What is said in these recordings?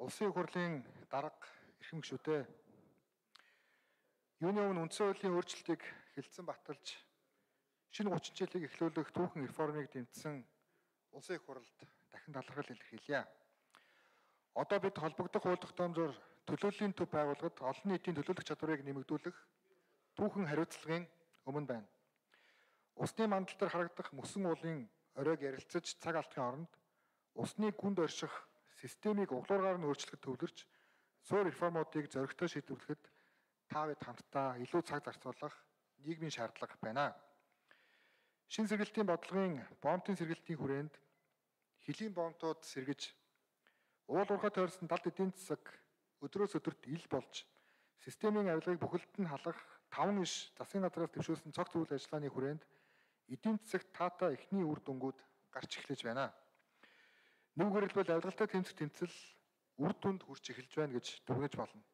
Улсын их хурлын дарга эрхэм гишүүдээ юуны өмнө үндсэн хуулийн өөрчлөлтийг хэлэлцэн баталж шинэ 30 жилийг эхлүүлэх түүхэн реформыг дэмжсэн улсын их хурлд дахин талархал илэрхийлье. Одоо бид холбогдох хууль тогтоомжоор төлөөллийн төв байгууллагад олон нийтийн төлөөлөх чадварыг нэмэгдүүлэх түүхэн хариуцлагын өмнө байна. Усны мандал дээр харагдах мөсөн уулын оройг ярилцаж цаг алдахын оронд усны гүнд орших системийг углуургаар нь өөрчлөхөд төвлөрч суур реформуудыг зоригтой шийдвэрлэхэд та бид хамтдаа илүү цаг зарцуулах нийгмийн шаардлага байна. Шинэ сэргэлтийн бодлогын бомтын сэргэлтийн хүрээнд хөлийн бомтууд сэргэж уул уурхай тойрсон далд эдийн засаг өдрөөс өдөрт ил болж системийн авилгыг бүхэлд нь халах 5 иш засгийн газраас төвшүүлсэн цогц үйл ажиллагааны хүрээнд эдийн засагт таатай эхний үр дүнгууд гарч эхлэж байна. Нэгүгээр хэлбэл авилгалтай тэмцэх тэмцэл үр дүнд хүрч эхэлж байна гэж дүгнэж болно.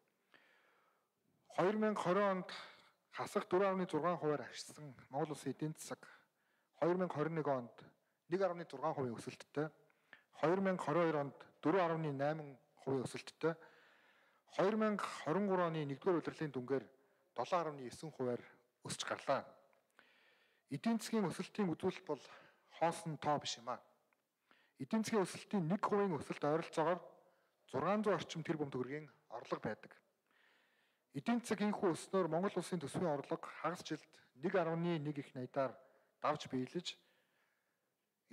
2020 онд хасах 4.6%-аар агшсан Монгол улсын эдийн засаг 2021 онд 1.6% өсөлттэй, 2022 онд 4.8% өсөлттэй, 2023 оны 1-р улирлын дүнгээр 7.9%-аар өсч гарлаа. Эдийн засгийн өсөлтийн үзүүлэлт бол хоосон тоо биш юм аа. Эдийн засгийн өсөлтийн 1% өсөлт ойролцоогоор 600 орчим тэрбум төгрөгийн орлого байдаг. Эдийн засаг инхүү өснөөр Монгол улсын төсвийн орлого хагас жилд 1.1 их найдаар давж биелэж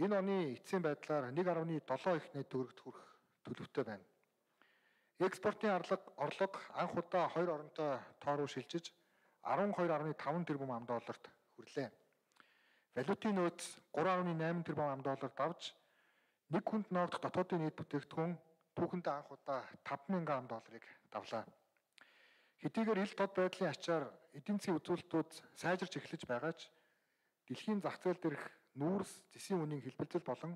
энэ оны эцсийн байдлаар 1.7 их найд төгрөгт хүрэх төлөвтэй байна. Экспортын орлого анх удаа 2 оронтой тоо руу шилжиж 12.5 тэрбум ам долларт хүрлээ. Валютын нөөц 3.8 тэрбум ам доллар давж нэг хүнд ноогдох дотоодын нийт бүтээгдэхүүн түүхэндээ анх удаа 5,000 ам долларыг давлаа. Хэдийгээр ил тод байдлын ачаар эдийн засгийн үзүүлэлтүүд сайжирч эхлэж байгаа ч дэлхийн зах зээл дээрх нүүрс, зэсийн үнийн хэлбэлзэл болон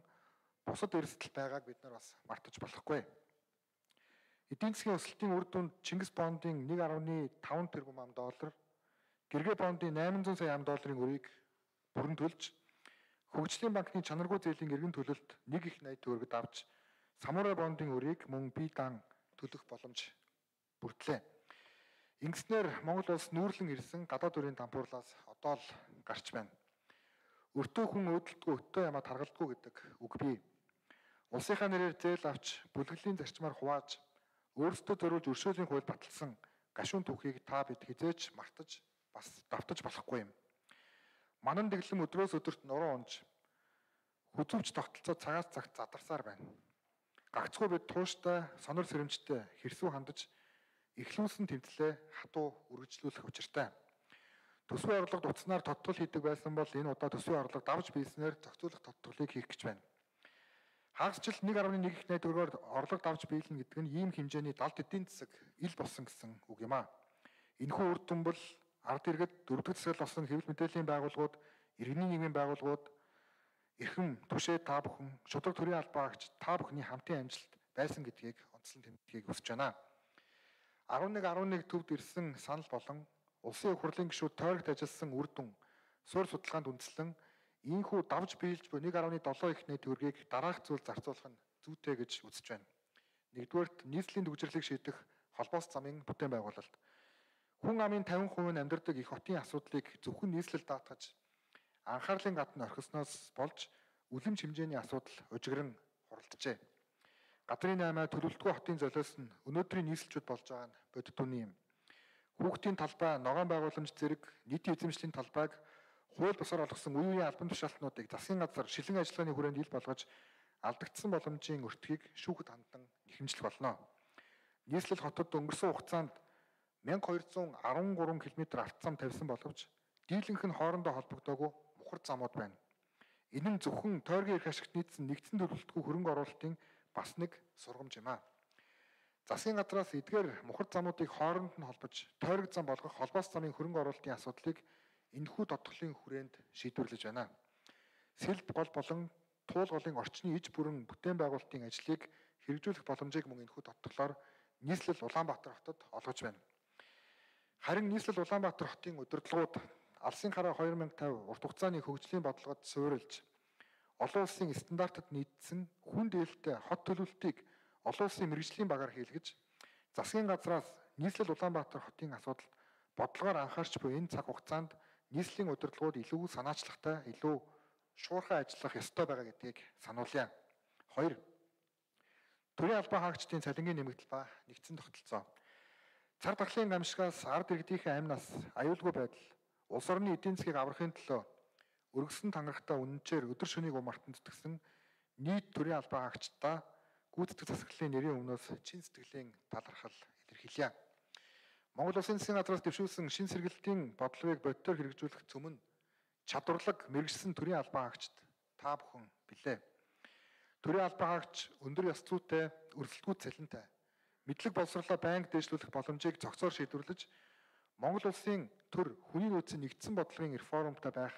бусад эрсдэл байгааг бид нар бас мартаж болохгүй. Эдийн засгийн өсөлтийн үр дүнд Чингис бондын 1.5 тэрбум ам доллар, Гэргээ бондын 800 сая ам долларын өрийг бүрэн төлж, Хөгжлийн банкны чанаргүй зээлийн эргэн төлөлт 1 их найд төгрөгөд авч, Самурай бондын өрийг мөн бие даан төлөх боломж бүрдлээ. Ингэснээр Монгол улс нүүрлэн ирсэн гадаад өрийн дампуурлаас одоо л гарч байна. Өртөө хүн өөдөлтгүй өтөө ямаа таргалдгүй гэдэг үг бий. Улсынхаа нэрээр зээл авч бүлэглэлийн зарчмаар хувааж өөрсдөө зориулж өршөөлийн хууль баталсан гашуун түүхийг та бид хизээч мартаж бас давтаж болохгүй юм. Манан дэглэм өдрөөс өдөрт нуруу унж хүзүүч тогтолцоо цагаас цагт задарсаар байна. Гагцхүү бид тууштай, сонор сэрэмжтэй хэрсүү хандаж эхлүүлсэн тэмцлээ хатуу үргэлжлүүлэх учиртай. Төсвийн орлогод утаснаар тодтол хийдэг байсан бол энэ удаа төсвийн орлого давж биеснээр зохицуулах тодтолыг хийх гэж байна. Хагас жил 1.1 их найд төгрөгөөр орлого давж биелнэ гэдэг нь ийм хэмжээний далд эдийн засаг ил болсон гэсэн үг юм аа. Энэхүү үр дүн бол ард иргэд дөрөвдөг засаг болсон хэвлэл мэдээллийн байгууллагууд, иргэний нийгмийн байгууллагууд, эрхэм түшээ та бүхэн, шудраг төрийн албаагч та бүхний хамтын амжилт байсан гэдгийг онцлон тэмдэглэхийг хүсэж байна. 11 төвд ирсэн санал болон улсын их хурлын гишүүд тойрогт ажилласан үр дүн суурь судалгаанд үндэслэн ийхүү давж биелж буй 1.7 их найд төгрөгийг дараах зүйл зарцуулах нь зүйтэй гэж үзэж байна. Нэгдүгээрт нийслэлийн төвчрлийг шийдэх холбоос замын бүтээн байгуулалт. Хүн амын 50% нь амьдардаг их хотын асуудлыг зөвхөн нийслэл даатгаж анхаарлын гадна орхисноос болж үлэмж хэмжээний асуудал ужигран хуралджээ. Гадрын 8 төлөвлөлтгүй хотын золиос нь өнөөдрийн нийслэлчүүд болж байгаа нь бодит үний юм. Хүүхдийн талбай, ногоон байгууламж зэрэг нийтийн эзэмшлийн талбайг хууль бусаар олгосон үе үеийн албан тушаалтнуудыг засгийн газар шилэн ажиллагааны хүрээнд ил болгож алдагдсан боломжийн өртгийг шүүхэд хандан нэхэмжлэх болно. Нийслэл хотод өнгөрсөн хугацаанд 1213 км авто зам тавьсан боловч дийлэнх нь хоорондоо холбогдоогүй мухар замууд байна. Энэ нь зөвхөн тойргийн эрх ашигт нийцсэн нэгдсэн төлөвлөлтгүй хөрөнгө оруулалтын бас нэг сургамж юм аа. Засгийн газраас эдгээр мухар замуудыг хооронд нь холбож тойрог зам болгох холбоос замын хөрөнгө оруулалтын асуудлыг энэхүү тодтголын хүрээнд шийдвэрлэж байна. Сэлб гол болон туул голын орчны иж бүрэн бүтээн байгуулалтын ажлыг хэрэгжүүлэх боломжийг мөн энэхүү тодтголоор нийслэл Улаанбаатар хотод олгож байна. Харин нийслэл Улаанбаатар хотын удирдлагууд Алсын хараа 2050 урт хугацааны хөгжлийн бодлогод суурилж олон улсын стандартад нийцсэн хүн дээлтэй хот төлөвлөлтийг олон улсын мэргэжлийн багаар хийлгэж засгийн газраас нийслэл Улаанбаатар хотын асуудалд бодлогоор анхаарч буй энэ цаг хугацаанд нийслэлийн удирдлагууд илүү санаачлагтай, илүү шуурхай ажиллах ёстой байгаа гэдгийг сануулъя. 2. Төрийн албан хаагчдын цалингийн нэмэгдэл ба нэгдсэн тогтолцоо. Цар тахлын гамшигаас ард иргэдийнхээ амь нас, аюулгүй байдал, улс орны эдийн засгийг аврахын төлөө өргөсөн тангарахтай үнэнчээр өдөр шөнийг умартан зүтгэсэн нийт төрийн албан хаагчдаа гүйцэтгэх засаглалын нэрийн өмнөөс чин сэтгэлийн талархал илэрхийлье. Монгол Улсын засгийн газраас дэвшүүлсэн шин сэргэлтийн бодлогыг бодитоор хэрэгжүүлэх цөм нь чадварлаг мэрэгжсэн төрийн албан хаагчд та бүхэн билээ. Төрийн албан хаагч өндөр ёс зүйтэй, өрсөлдгүй цалинтай, мэдлэг боловсролоо байнга дэвшлүүлэх боломжийг зохицоор шийдвэрлэж Монгол Улсын төр хүний нөөцийн нэгдсэн бодлогын реформтой байх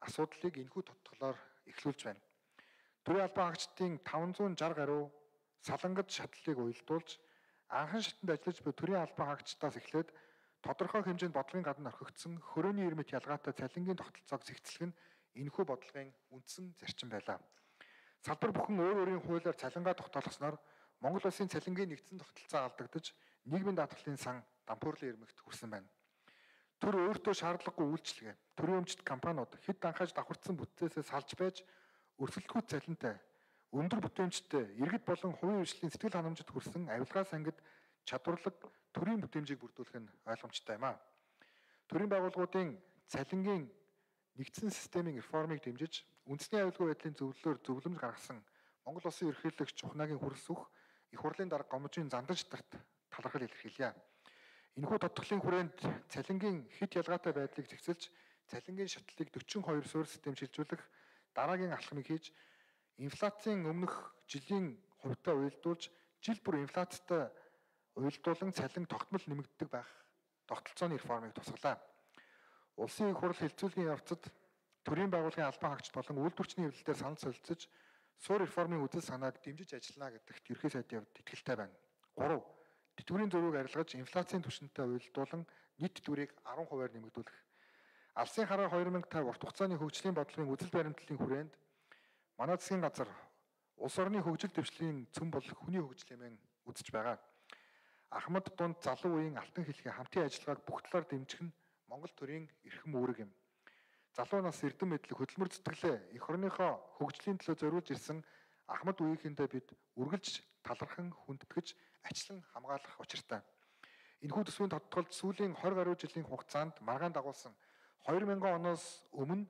асуудлыг энэхүү тодтголоор эхлүүлж байна. Төрийн албан хаагчдын 560 гаруй салангад шатлалыг уялдуулж анхан шатанд ажиллаж буй төрийн албан хаагчдаас эхлээд тодорхой хэмжээнд бодлогын гадна орхигдсон хөрөөний ирмэт ялгаатай цалингийн тогтолцоог зэгцлэх нь энэхүү бодлогын үндсэн зарчим байлаа. Салбар бүхэн өөр өөрийн хуулиар цалингаа тогтоолгосноор Монгол Улсын цалингийн нэгдсэн тогтолцоо алдагдаж нийгмийн даатгалын сан дампуурлын ирмэгт хүрсэн байна. Төр өөртөө шаардлагагүй үйлчлэгээ, төрийн өмчт компаниуд хэд анхааж давхарцсан бүтцээсээ салж байж өрсөлдөхүй цалинтай, өндөр бүтээмжтэй, иргэд болон хувийн хвшлийн сэтгэл ханамжид хүрсэн авилгаас ангид чадварлаг төрийн бүтээмжийг бүрдүүлэх нь ойлгомжтой юм а. Төрийн байгууллагуудын цалингийн нэгдсэн системийн реформыг дэмжиж, үндэсний аюулгүй байдлын зөвлөлөөр зөвлөмж гаргасан Монгол Улсын ерөнхийлөгч Чухнагийн хүрс үх их хурлын дарга Гомжийн Зандан шатарт талархал илэрхийлье. Энэхүү тодтголын хүрээнд цалингийн хэд ялгаатай байдлыг зэгцэлж, цалингийн шатлалыг 42 суурь систем шилжүүлэх дараагийн алхмыг хийж, инфляцийн өмнөх жилийн хувьтай уялдуулж, жил бүр инфляцтай уялдуулан цалин тогтмол нэмэгддэг байх тогтолцооны реформыг тусгалаа. Улсын их хурл хэлцүүлгийн явцад төрийн байгууллагын албан хаагчид болон үйлдвэрчний хэвлэлээр санал солилцож, суур реформын үзэл санааг дэмжиж ажиллана гэдэгт ерхий сайдын хувьд итгэлтэй байна. 3. Тэтгэврийн зөрүүг арилгаж, инфляцийн түвшинтэй уялдуулан нийт тэтгэврийг 10%-аар нэмэгдүүлэх. Алсын хараа 2050 урт хугацааны хөгжлийн бодлогын үзэл баримтлалын хүрээнд манай засгийн газар улс орны хөгжил дэвшлийн цөм бол хүний хөгжил хэмээн үзэж байгаа. Ахмад дунд залуу үеийн алтан хэлхий хамтын ажиллагааг бүх талаар дэмжих нь Монгол төрийн эрхэм үүрэг юм. Залуу нас эрдэм мэдлэг хөдөлмөр зүтгэлээ эх орныхоо хөгжлийн төлөө зориулж ирсэн Ахмад үеийнхэндээ бид үргэлж талархан хүндэтгэж ачлан хамгаалах учиртай. Энэхүү төсвийн тодтолд сүүлийн 20 гаруй жилийн хугацаанд маргаан дагуулсан 2000 оноос өмнө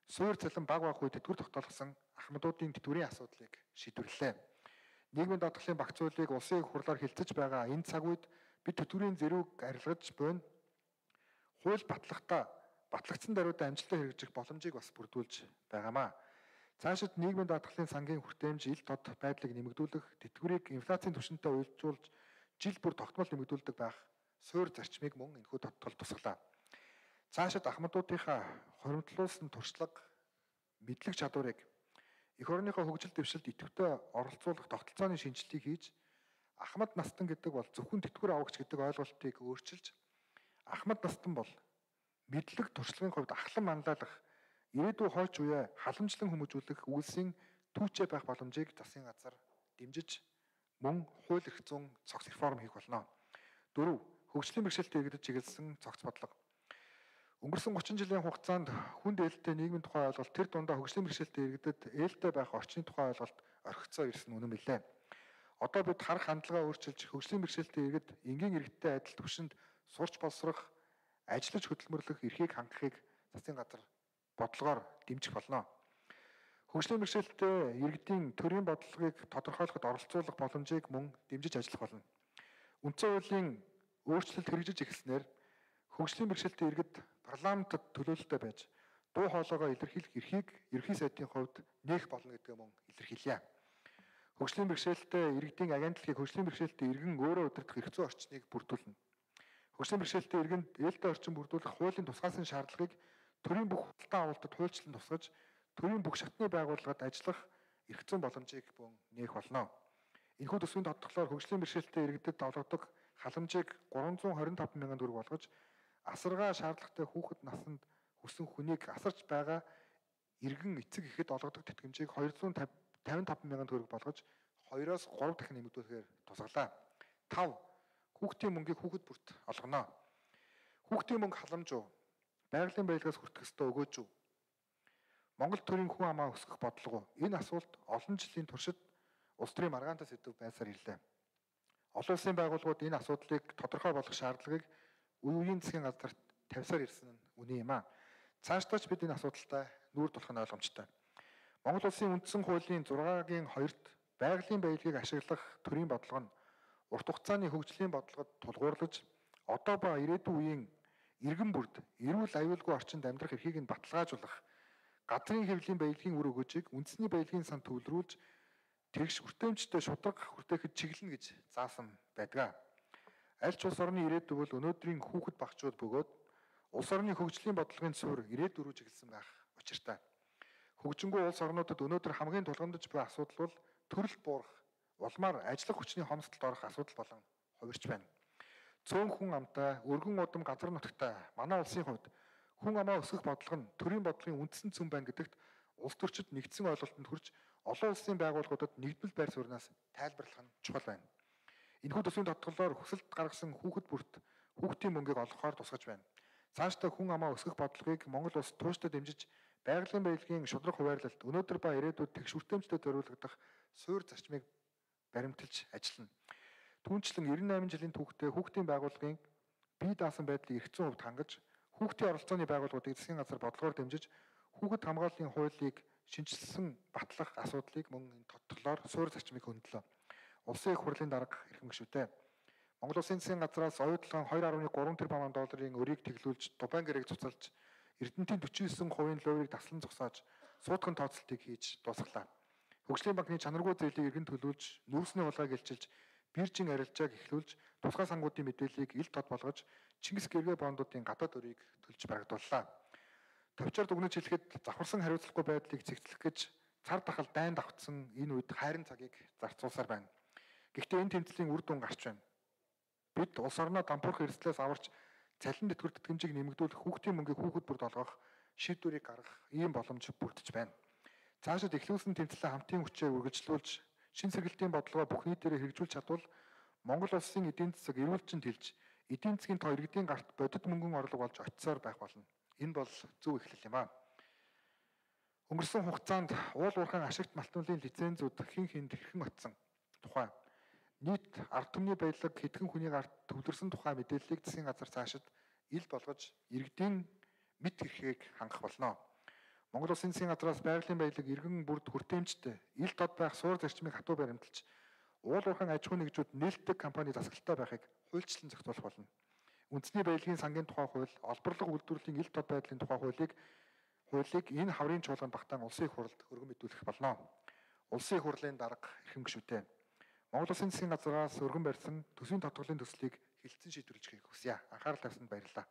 суур цалин баг байх үе тэтгэвэр тогтоолгосон ахмадуудын тэтгэврийн асуудлыг шийдвэрлэлээ. Нийгмийн даатгалын багц хуулийг улсын их хурлаар хилцэж байгаа энэ цаг үед бид тэтгэврийн зэрүүг арилгаж буйна. Хууль батлагдсан даруйдаа амжилттай хэрэгжих боломжийг бас бүрдүүлж байгаамаа. Цаашид нийгмийн даатгалын сангийн хүртээмж ил тод байдлыг нэмэгдүүлэх, тэтгэврийг инфляцийн түвшинтэй уялжуулж жил бүр тогтмол нэмэгдүүлдэг байх суур зарчмыг мөн энэхүү тодтол тусгалаа. Цаашид ахмадуудынхаа хоримтлуулсан туршлага, мэдлэг чадварыг эх орныхоо хөгжил дэвшилд идэвхтэй оролцуулах тогтолцооны шинжилгээг хийж, ахмад настан гэдэг бол зөвхөн тэтгэвэр авагч гэдэг ойлголтыг өөрчилж, ахмад настан бол мэдлэг туршлагын хувьд ахлан манлайлах, ирээдүйн хойч үе халамжлан хүмүүжүүлэх үйлсийн түүчээ байх боломжийг засгийн газар дэмжиж мөн хууль эрх зүйн цогц реформ хийх болно. 4. Хөгжлийн бэрхшээлтэй иргэдэд чиглэсэн цогц бодлого. Өнгөрсөн 30 жилийн хугацаанд хүнд ээлтэй нийгмийн тухай ойлголт, тэр дундаа хөгжлийн бэрхшээлтэй иргэдэд ээлтэй байх орчны тухай ойлголт орхицоо ирсэн үнэн билээ. Одоо бид харах хандлагаа өөрчилж хөгжлийн бэрхшээлтэй иргэд энгийн иргэдтэй адил түвшинд сурч боловсрох, ажиллаж хөдөлмөрлөх эрхийг хангахыг засгийн газар бодлогоор дэмжих болно. Хөгжлийн бэрхшээлтэй иргэдийн төрийн бодлогыг тодорхойлоход оролцуулах боломжийг мөн дэмжиж ажиллах болно. Үндсэн хуулийн өөрчлөлт хэрэгжиж эхэлснээр хөгжлийн бэрхшээлтэй иргэд парламентод төлөөлөлтөй байж дуу хоолойгоо илэрхийлэх эрхийг ерхий сайдын хувьд нээх болно гэдгээ мөн илэрхийлье. Хөгжлийн бэрхшээлтэй иргэдийн агентлагийг хөгжлийн бэрхшээлтэй иргэн өөрөө удирдах эрх зүйн орчныг бүрдүүлнэ. Хөгжлийн бэрхшээлтэй иргэнд ээлтэй орчин бүрдүүлэх хуулийн тусгаасан шаардлагыг төрийн бүх худалдан авалтад хуульчлан тусгаж, төрийн бүх шатны байгууллагад ажиллах эрх зүйн боломжийг мөн нээх болно. Энэхүү төсвийн тодтголоор хөгжлийн бэрхшээлтэй иргэдэд олгодог халамжийг 325 мянган төгрөг болгож, асаргаа шаардлагатай хүүхэд наснд хүрсэн хүнийг асарч байгаа иргэн эцэг эхэд олгодог тэтгэмжийг 255 мянган төгрөг болгож 2-оос 3 дахин нэмэгдүүлэхээр тусгалаа. 5. Хүүхдийн мөнгийг хүүхэд бүрт олгоно. Хүүхдийн мөнгө халамж уу? Байгалийн баялгаас хүртэх ёстой өгөөж үү? Монгол төрийн хүн амаа өсгөх бодлого уу? Энэ асуулт олон жилийн туршид улс төрийн маргаантай сэдв байсаар ирлээ. Олон улсын байгууллагууд энэ асуудлыг тодорхой болгох шаардлагыг үеийн засгийн газарт тавьсаар ирсэн нь үнэн юм аа. Цаашдаач бид энэ асуудалтай нүүр тулах нь ойлгомжтой. Монгол улсын үндсэн хуулийн 6-гийн 2-т байгалийн баялагийг ашиглах төрийн бодлого нь урт хугацааны хөгжлийн бодлогод тулгуурлаж одоо ба ирээдүйн үеийн иргэн бүрд эрүүл аюулгүй орчинд амьдрах эрхийг нь баталгаажуулах газрын хэвлэлийн баялагын үр өгөөжийг үндэсний баялагын сан төвлөрүүлж тэгш хүртээмжтэй шударга хүртээхэд чиглэнэ гэж заасан байдаг. Аль ч улс орны ирээдүй бол өнөөдрийн хүүхэд багчууд бөгөөд улс орны хөгжлийн бодлогын суурь ирээдүй рүү чиглэсэн байх учиртай. Хөгжингүй улс орнуудад өнөөдөр хамгийн тулгамдж буй асуудал бол төрөл буурах, улмаар ажиллах хүчний хомсдолд орох асуудал болон хувирч байна. Цөөн хүн амтай, өргөн удам газар нутагтай манай улсын хувьд хүн амаа өсгөх бодлого нь төрийн бодлогын үндсэн цөм байна гэдэгт улс төрчид нэгдсэн ойлголтод хүрч олон улсын байгууллагуудад нэгдвэл байр сууриас тайлбарлах нь чухал байна. Энэхүү төсвийн тодголоор хүсэлт гаргасан хүүхэд бүрт хүүхдийн мөнгийг олгохоор тусгаж байна. Цаашдаа хүн амаа өсгөх бодлогыг Монгол улс тууштай дэмжиж байгалийн баялагын шударга хуваарлалт өнөөдөр ба ирээдүйд тэгш хүртээмжтэй зориулагдах суурь зарчмыг баримталж ажиллана. Түүнчлэн 98 жилийн түүхтээ хүүхдийн байгууллагын бие даасан байдлыг эрх зүйн хувьд хангаж хүүхдийн оролцооны байгууллагуудыг засгийн газар бодлогоор дэмжиж хүүхэд хамгааллын хуулийг шинжилсэн батлах асуудлыг мөн энэ тодтолоор суурь зарчмыг хөндлөө. Улсын их хурлын дарга эрхэм гишүүдээ Монгол Улсын засгийн газраас оюутлан 2.3 тэрбум долларын өрийг тэглүүлж Дубайн гэрээг цуцалж Эрдэнэтийн 49% лойрыг таслан зогсоож суудхан тооцолтыг хийж дуусглаа. Хөгжлийн банкны чанаргүй зээлийг эргэн төлүүлж, нүүрсний хулгайг илчилж, биржийн арилжааг эхлүүлж, тусгай сангуудын мэдээллийг ил тод болгож, Чингис гэргээ бондуудын гадаад өрийг төлж барагдууллаа. Товчоор дүгнэж хэлэхэд завхарсан хариуцлагагүй байдлыг цэгцлэх гэж цар тахал дайн давтсан энэ үед хайрын цагийг зарцуулсаар байна. Гэхдээ энэ тэмцлийн үр дүн гарч байна. Бид улс орноо дампуурах эрсдлээс аварч цалин тэтгэвэр тэтгэмжийг нэмэгдүүлэх хүүхдийн мөнгийг хүүхэд бүрд олгох шийдвэрийг гаргах ийм боломж бүрдэж байна. Цаашид эхлүүлсэн тэмцлээ хамтын хүчээр үргэлжлүүлж, шин сэргэлтийн бодлогоо бүх нийтээр хэрэгжүүлж чадвал Монгол улсын эдийн засаг эрүүлжинд хэлж, эдийн засгийн тоо иргэдийн гарт бодит мөнгөн орлого болж очисоор байх болно. Энэ бол зөв эхлэл юм аа. Өнгөрсөн хугацаанд уул уурхайн ашигт малтмалын лицензүүд хэнд хэрхэн очсон тухай нийт ард түмний баялаг хэдхэн хүний гарт төвлөрсөн тухай мэдээллийг засгийн газар цаашид ил болгож иргэдийн мэд хэрхийг хангах болно. Монгол Улсын засгийн газраас байгалийн баялаг иргэн бүрд хүртээмжтэй ил тод байх суур зарчмыг хатуу баримталж уул уурхайн аж ахуй нэгжүүд нээлттэй компани засаглалтай байхыг хуульчлан зохицуулах болно. Үндэсний баялагын сангийн тухай хууль, олборлого үйлдвэрлэлийн ил тод байдлын тухай хуулийг энэ хаврын чуулганд багтаан улсын их хурлд өргөн мэдүүлэх болно. Улсын их хурлын дарга эрхэм гишүүдээ Монгол Улсын засгийн газраас өргөн барьсан төсвийн тодголын төслийг хилцэн шийдвэрлэж хийх хүсье. Анхаарал тавьсанд баярлалаа.